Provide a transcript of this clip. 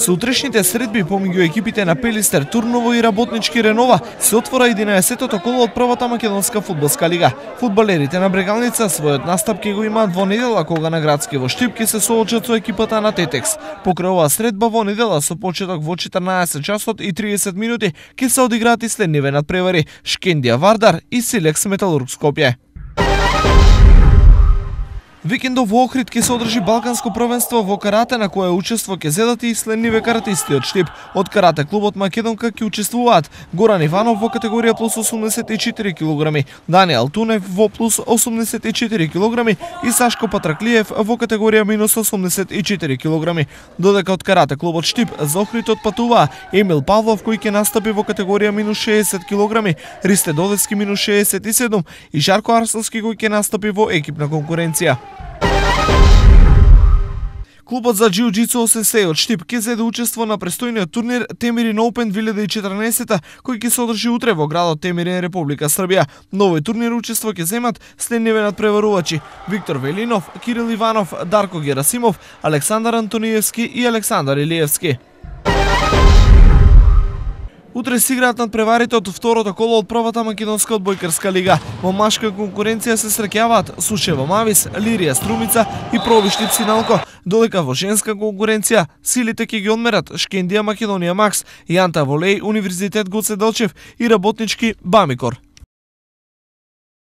Со утрешните средби помеѓу екипите на Пелистер Турново и Работнички Ренова се отвора 11-тото коло од првата македонска фудбалска лига. Фудбалерите на Брегалница својот настап ќе го имаат во недела кога на градски во Штип ќе се соочат со екипата на Тетекс. Покрај оваа средба во недела со почеток во 14 часот и 30 минути ќе се одиграат и следниве надпревари: Шкендија Вардар и Силекс Металург Скопје. Викендов во Охрид ќе се одржи Балканско првенство во карате, на кое учество ќе зедат и следниве каратисти од Штип. Од карате клубот Македонка ќе учествуваат Горан Иванов во категорија плюс 84 кг, Даниел Тунев во плюс 84 кг и Сашко Патраклиев во категорија минус 84 кг. Додека од карате клубот Штип за Охрид отпатуваа Емил Павлов кој ќе настапи во категорија минус 60 кг, Ристе Додевски минус 67 и Жарко Арсовски кој ќе настапи во екипна конкуренција. Клубот за џиу-џицу Осенсеј од Штип ќе зеде учество на престојниот турнир Темирин Оупен 2014 кој ќе се одржи утре во градот Темирин, Република Србија. На овој турнир учество ќе земат следниве надпреварувачи: Виктор Велинов, Кирил Иванов, Дарко Герасимов, Александар Антониевски и Александар Илиевски. Утре се играат надпреварите од второто коло од првата македонска одбојкарска лига. Во машка конкуренција се среќаваат Сушево Мавис, Лирија Струмица и Провиштип Синалко, додека во женска конкуренција силите ќе ги одмерат Шкендија Македонија Макс, Јанта Волеј, Универзитет Гоце Делчев и Работнички Бамикор.